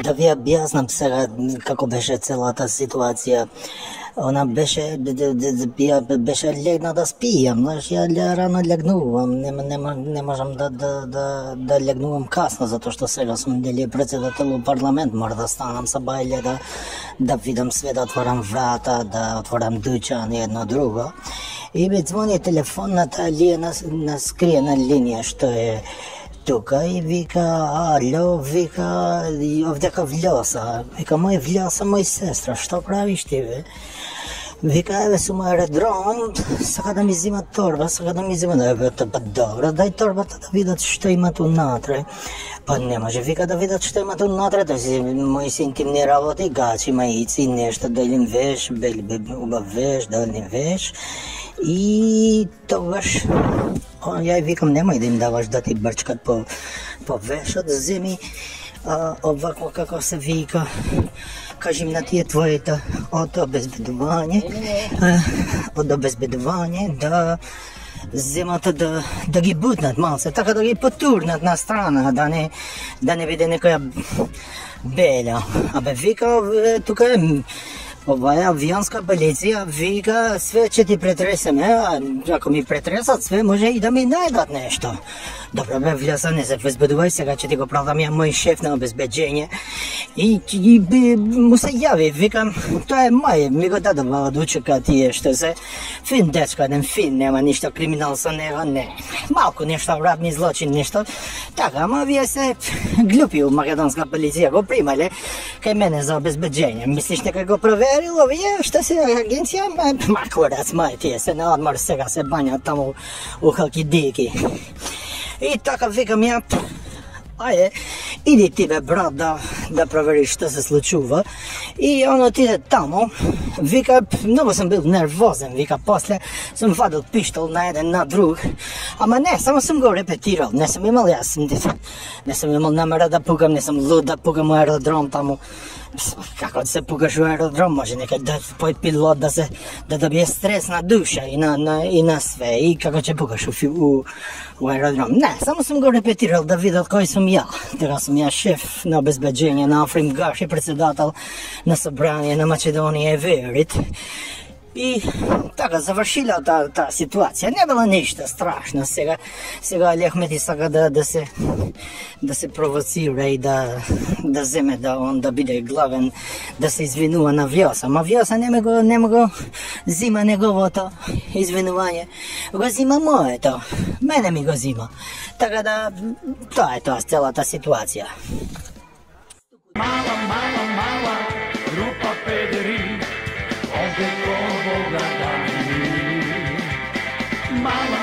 Да ви објаснам сега како беше целата ситуација. Она беше легна да спијам, знаеш, ја рано легнувам, не можам да легнувам касно, затоа што сега сум дали председател во парламент, мора да станам са бајле да видам све, да отворам врата, да отворам дуќан и едно друго. И ми звони телефонната на скриена линија што е тука и вика, ало, вика, овдека Влјоса. Вика, мој Влјоса, мој сестра, што правиш ти, бе? Вика, еве сум аеродром, сака да ми зимат торба, сака да ми зимат, еве, па добро, дај торбата да видат што имат унатре. Па не може, вика, да видат што имат унатре, тоа си мои си интимни работи, гачи, маици, нешто, делим веш, убав веш, делим веш. И тогаш ја викам, немај да им даваш да ти брчкат по вешот, земи овако како се вика, кажи на тие твоите од обезбедување да земат да ги бутнат малце, така да ги потурнат на страна, да не биде некоја белја. Абе вика, тука е оваа авионска полиција, вика, све ќе ти претресеме, ако ми претресат све, може и да ми најдат нешто. Добро, бе, Влјоса, не се возбудувај, сега ќе ти го правдам ја мој шеф на обезбеđење. И му се јави, викам, тоа е мај, ми го дадува од учека тие што се фин дечко, еден фин, нема ништо криминал со него, не. Малку нешто радни злочин, нешто. Така, ама вие се глупи у македонска полиција, го примале кај мене за обезбеđење. Мислиш дека го проверил овие што се агенција? Ма курац, мај, тие се на одмор, сега се бањат таму у Халкидики. И така викам ја, ајде, иди ти бе брат да провериш што се случува. И он отиде таму, вика, многу сум бил нервозен, вика, после сум вадил пиштол на еден на друг, ама не, само сум го репетирал, не сум имал не сум имал намера да пукам, не сум луд да пукам у аеродром таму. Како да се пукаш у аеродром, може некај да пој пилот да добие стрес на душа и на све, и како ќе пукаш у аеродром. Не, само сум го репетирал да видат кој сум ја. Тега сум ја шеф на обезбеđење на Африм Гаши, председател на собрание на Македонија и Верит. И така завршила таа ситуација. Не била ништо страшно. Сега Алехмети сака да се провоцира и да земе да он да биде главен, да се извинува на Влјоса. Ама Влјоса нема го зима неговото извинување. Го зима моето. Мене ми го зима. Така да тоа е тоа целата ситуација. Mala grupa pederi, ovde ko Boga dani. Mala